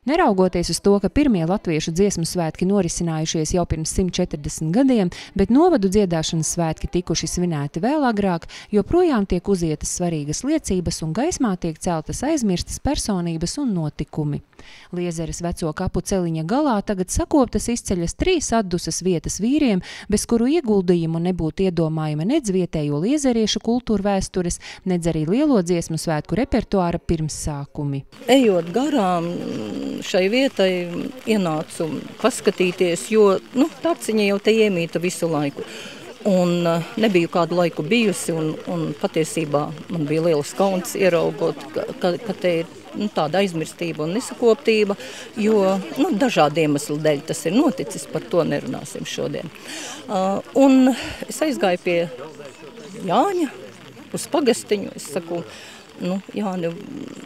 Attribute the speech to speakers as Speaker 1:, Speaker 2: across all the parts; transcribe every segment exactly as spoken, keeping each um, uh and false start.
Speaker 1: Neraugoties uz to, ka pirmie latviešu dziesmu svētki norisinājušies jau pirms simt četrdesmit gadiem, bet novadu dziedāšanas svētki tikuši svinēti vēl agrāk, joprojām tiek uzietas svarīgas liecības un gaismā tiek celtas aizmirstas personības un notikumi. Liezeres veco kapu celiņa galā tagad sakoptas izceļas trīs atdusas vietas vīriem, bez kuru ieguldījumu nebūtu iedomājama nedz vietējo liezeriešu kultūra vēstures, nedz arī lielo dziesmu svētku repertuāra pirmsākumi.
Speaker 2: Ejot garām šai vietai ienācu paskatīties, jo nu, taciņa jau te iemīta visu laiku. Un uh, nebiju kādu laiku bijusi, un, un patiesībā man bija liels kauns ieraugot, ka, ka, ka te ir nu, tāda aizmirstība un nesakoptība, jo nu, dažādi iemesli dēļ tas ir noticis, par to nerunāsim šodien. Uh, un es aizgāju pie Jāņa uz pagastiņu, es saku, nu, Jāni,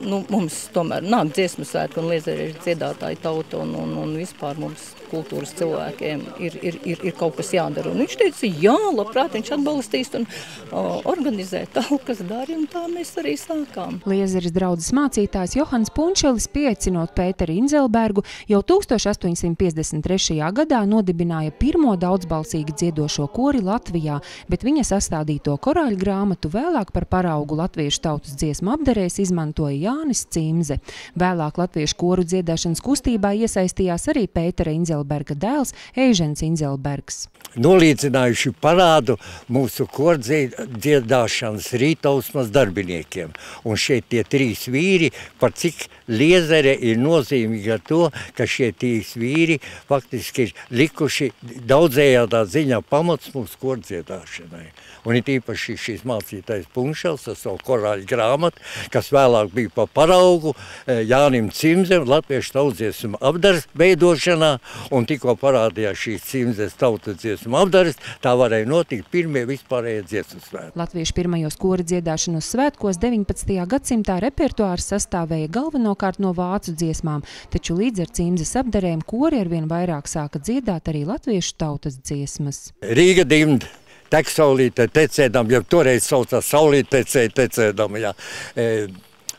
Speaker 2: nu, mums tomēr nāk dziesmu svētki un liezeriešu dziedātāju tauta un, un, un vispār mums kultūras cilvēkiem ir, ir, ir, ir kaut kas jādara. Un viņš teica, jā, labprāt, viņš atbalstīs un o, organizē talkas dari, un tā mēs arī sākām.
Speaker 1: Liezeres draudzes mācītājs Johans Punčelis, pieaicinot Pēteri Inzelbergu, jau tūkstoš astoņsimt piecdesmit trešajā gadā nodibināja pirmo daudzbalsīgi dziedošo kori Latvijā, bet viņa sastādīto korāļu grāmatu vēlāk par paraugu latviešu tautas dziesmu apdarēs izmantoja Jānis Cimze. Vēlāk latviešu koru dziedāšanas kustībā iesaistījās arī Pētera Inzelberga dēls Eižens Inzelbergs.
Speaker 3: Nolīdzinājuši parādu mūsu kordziedāšanas rītausmas darbiniekiem. Un šeit tie trīs vīri, par cik Liezere ir nozīmīga ar to, ka šie trīs vīri faktiski ir likuši daudzējādā ziņā pamats mūsu kordziedāšanai. Un ir īpaši šīs mācītājs Punšels ar savu korāļu grāmatu, kas vēlāk bija pa paraugu Jānim Cimzem, latviešu tautsdziesmu apdares veidošanā, un tikko parādījās šīs Cimzes tautas dziesmu apdares, tā varēja notikt pirmie vispārējie dziesmu svētki.
Speaker 1: Latviešu pirmajos kora dziedāšanas svētkos deviņpadsmitajā gadsimtā repertuārs sastāvēja galvenokārt no vācu dziesmām, taču līdz ar Cimzes apdarēm kori arvien vairāk sāka dziedāt arī latviešu tautas dziesmas.
Speaker 3: Rīga dimd. Tek saulītē tecēdam, jau toreiz saucās saulītē tecēdam, jā. E,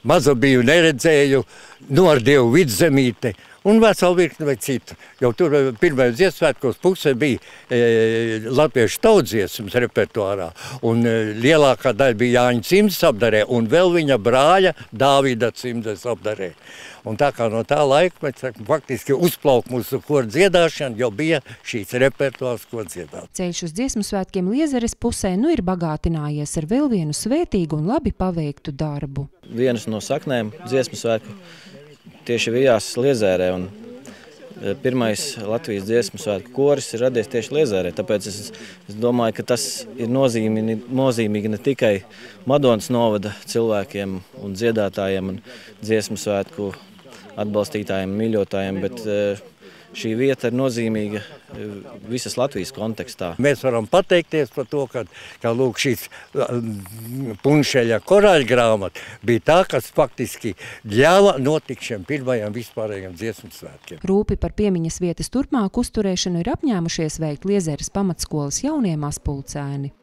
Speaker 3: mazu biju neredzēju, nordievu vidzemīte un veselu virkni vai citu. Jau tur pirmajos dziesmsvētkos pusē bija e, latviešu tautsdziesmas repertuārā, un e, lielākā daļa bija Jāņa Cimzes apdarē, un vēl viņa brāļa Dāvida Cimzes apdarē. Un tā kā no tā laika, mēs sakam, faktiski uzplauk mūsu kora dziedāšana, jo bija šīs repertuārs, ko dziedāt.
Speaker 1: Ceļš uz dziesmu svētkiem Liezeres pusē nu ir bagātinājies ar vēl vienu svētīgu un labi paveiktu darbu.
Speaker 4: Vienas no saknēm dziesmu svētku tieši vijās Liezerē, un pirmais Latvijas dziesmu svētku koris ir radies tieši Liezerē, tāpēc es, es domāju, ka tas ir nozīmīgi, nozīmīgi ne tikai Madonas novada cilvēkiem un dziedātājiem un dziesmu svētku atbalstītājiem, mīļotājiem, bet šī vieta ir nozīmīga visas Latvijas kontekstā.
Speaker 3: Mēs varam pateikties par to, ka, ka lūk, šīs Punšeļa korāļu grāmata bija tā, kas faktiski ļāva notikt šiem pirmajiem vispārējiem dziesmu svētkiem.
Speaker 1: Rūpi par piemiņas vietas turpmāku uzturēšanu ir apņēmušies veikt Liezeres pamatskolas jaunie mazpulcēni.